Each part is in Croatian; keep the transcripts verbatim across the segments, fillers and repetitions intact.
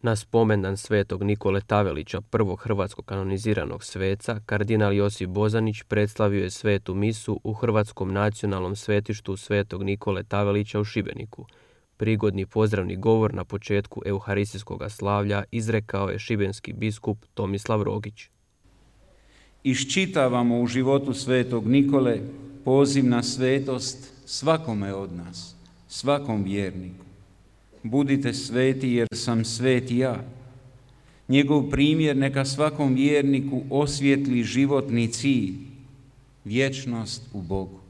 Na spomendan svetog Nikole Tavelića, prvog hrvatskog kanoniziranog sveca, kardinal Josip Bozanić predstavio je svetu misu u Hrvatskom nacionalnom svetištu svetog Nikole Tavelića u Šibeniku. Prigodni pozdravni govor na početku euharistijskog slavlja izrekao je šibenski biskup Tomislav Rogić. Iščitavamo u životu svetog Nikole poziv na svetost svakome od nas, svakom vjerniku. Budite sveti jer sam svet ja. Njegov primjer neka svakom vjerniku osvijetli životni cilj, vječnost u Bogu.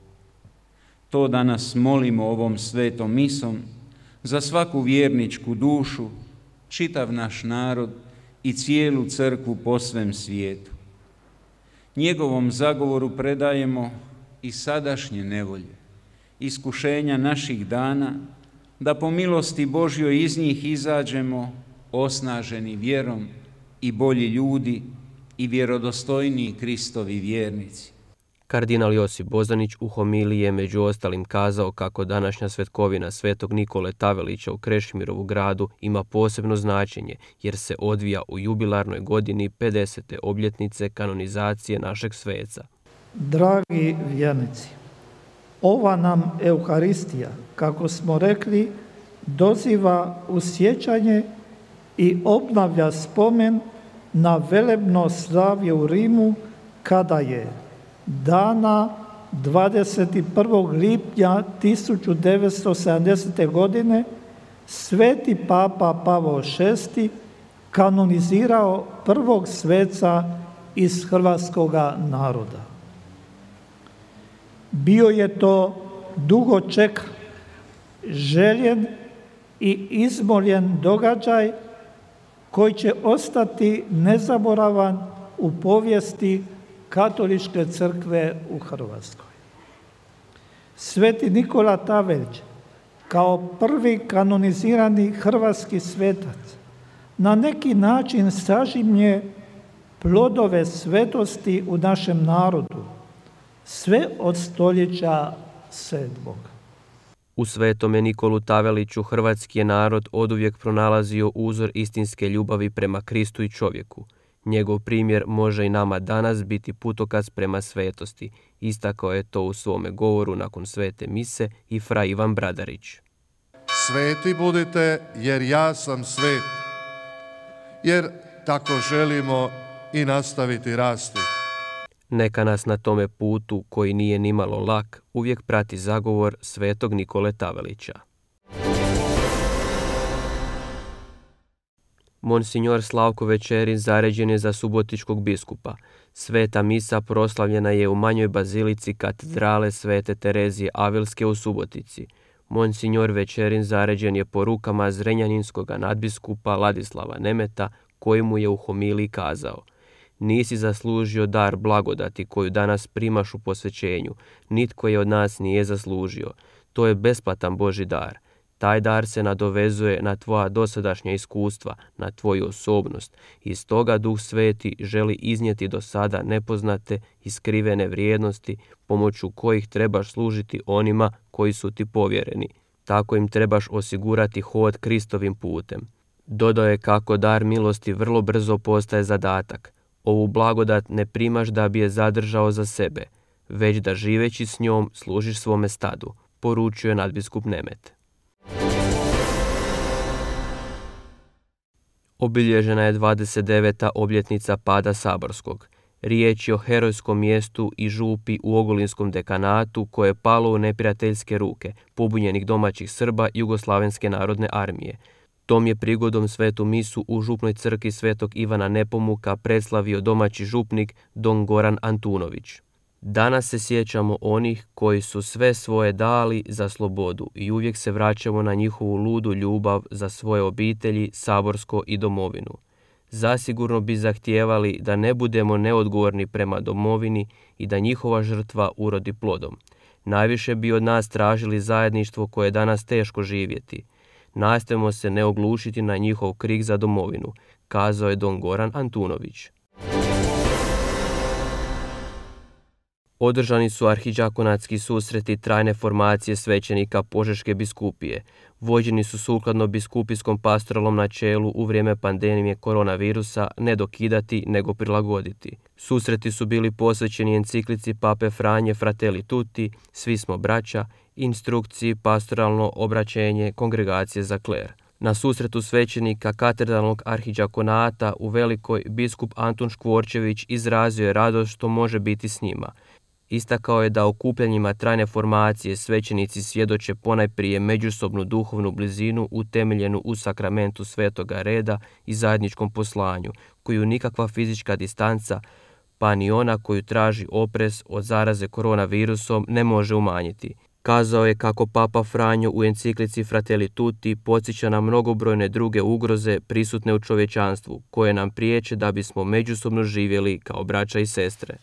To danas molimo ovom svetom misom za svaku vjerničku dušu, čitav naš narod i cijelu crkvu po svem svijetu. Njegovom zagovoru predajemo i sadašnje nevolje, iskušenja naših dana, da po milosti Božjoj iz njih izađemo osnaženi vjerom i bolji ljudi i vjerodostojniji Kristovi vjernici. Kardinal Josip Bozanić u homiliji je među ostalim kazao kako današnja svetkovina svetog Nikole Tavelića u Krešimirovu gradu ima posebno značenje jer se odvija u jubilarnoj godini pedesete obljetnice kanonizacije našeg sveca. Dragi vjernici, ova nam Euharistija, kako smo rekli, doziva u sjećanje i obnavlja spomen na velebno slavlje u Rimu kada je dana dvadeset prvog lipnja tisuću devetsto sedamdesete. godine sveti papa Pavao šesti kanonizirao prvog sveca iz hrvatskoga naroda. Bio je to dugo čekan, željen i izmoljen događaj koji će ostati nezaboravan u povijesti Katoličke crkve u Hrvatskoj. Sveti Nikola Tavelić, kao prvi kanonizirani hrvatski svetac, na neki način sažimlje plodove svetosti u našem narodu, sve od stoljeća sedmog. U svetome Nikolu Taveliću hrvatski je narod oduvijek pronalazio uzor istinske ljubavi prema Kristu i čovjeku. Njegov primjer može i nama danas biti putokaz prema svetosti. Istakao je to u svome govoru nakon svete mise i fra Ivan Bradarić. Sveti budite jer ja sam svet, jer tako želimo i nastaviti rasti. Neka nas na tome putu, koji nije nimalo lak, uvijek prati zagovor svetog Nikole Tavelića. Monsignor Slavko Večerin zaređen je za subotičkog biskupa. Sveta misa proslavljena je u manjoj bazilici katedrale Svete Terezije Avilske u Subotici. Monsignor Večerin zaređen je po rukama zrenjaninskog nadbiskupa Ladislava Nemeta, koji mu je u homiliji kazao: nisi zaslužio dar blagodati koju danas primaš u posvećenju, nitko je od nas nije zaslužio. To je besplatan Božji dar. Taj dar se nadovezuje na tvoja dosadašnja iskustva, na tvoju osobnost i stoga Duh Sveti želi iznijeti do sada nepoznate i skrivene vrijednosti pomoću kojih trebaš služiti onima koji su ti povjereni. Tako im trebaš osigurati hod Kristovim putem. Dodao je kako dar milosti vrlo brzo postaje zadatak. Ovu blagodat ne primaš da bi je zadržao za sebe, već da živeći s njom služiš svome stadu, poručio je nadbiskup Nemet. Obilježena je dvadeset deveta obljetnica pada Saborskog. Riječ je o herojskom mjestu i župi u Ogulinskom dekanatu koje je palo u neprijateljske ruke pobunjenih domaćih Srba Jugoslavenske narodne armije. Tom je prigodom svetu misu u župnoj crkvi svetog Ivana Nepomuka predslavio domaći župnik don Goran Antunović. Danas se sjećamo onih koji su sve svoje dali za slobodu i uvijek se vraćamo na njihovu ludu ljubav za svoje obitelji, Saborsko i domovinu. Zasigurno bi zahtijevali da ne budemo neodgovorni prema domovini i da njihova žrtva urodi plodom. Najviše bi od nas tražili zajedništvo koje je danas teško živjeti. Nastojimo se ne oglušiti na njihov krik za domovinu, kazao je don Goran Antunović. Održani su arhidžakonatski susreti trajne formacije svećenika Požeške biskupije. Vođeni su sukladno biskupijskom pastoralnom načelu u vrijeme pandemije koronavirusa ne dokidati nego prilagoditi. Susreti su bili posvećeni enciklici Pape Franje Fratelli Tutti, svi smo braća, instrukciji pastoralno obraćenje kongregacije za kler. Na susretu svećenika katedralnog arhidžakonata u Velikoj biskup Antun Škvorčević izrazio je radost što može biti s njima. Istakao je da okupljanjima trajne formacije svećenici svjedoče ponajprije međusobnu duhovnu blizinu utemeljenu u sakramentu svetoga reda i zajedničkom poslanju, koju nikakva fizička distanca, pa ni ona koju traži oprez od zaraze koronavirusom, ne može umanjiti. Kazao je kako Papa Franjo u enciklici Fratelli Tutti podsjeća na mnogobrojne druge ugroze prisutne u čovječanstvu, koje nam priječe da bismo međusobno živjeli kao braća i sestre.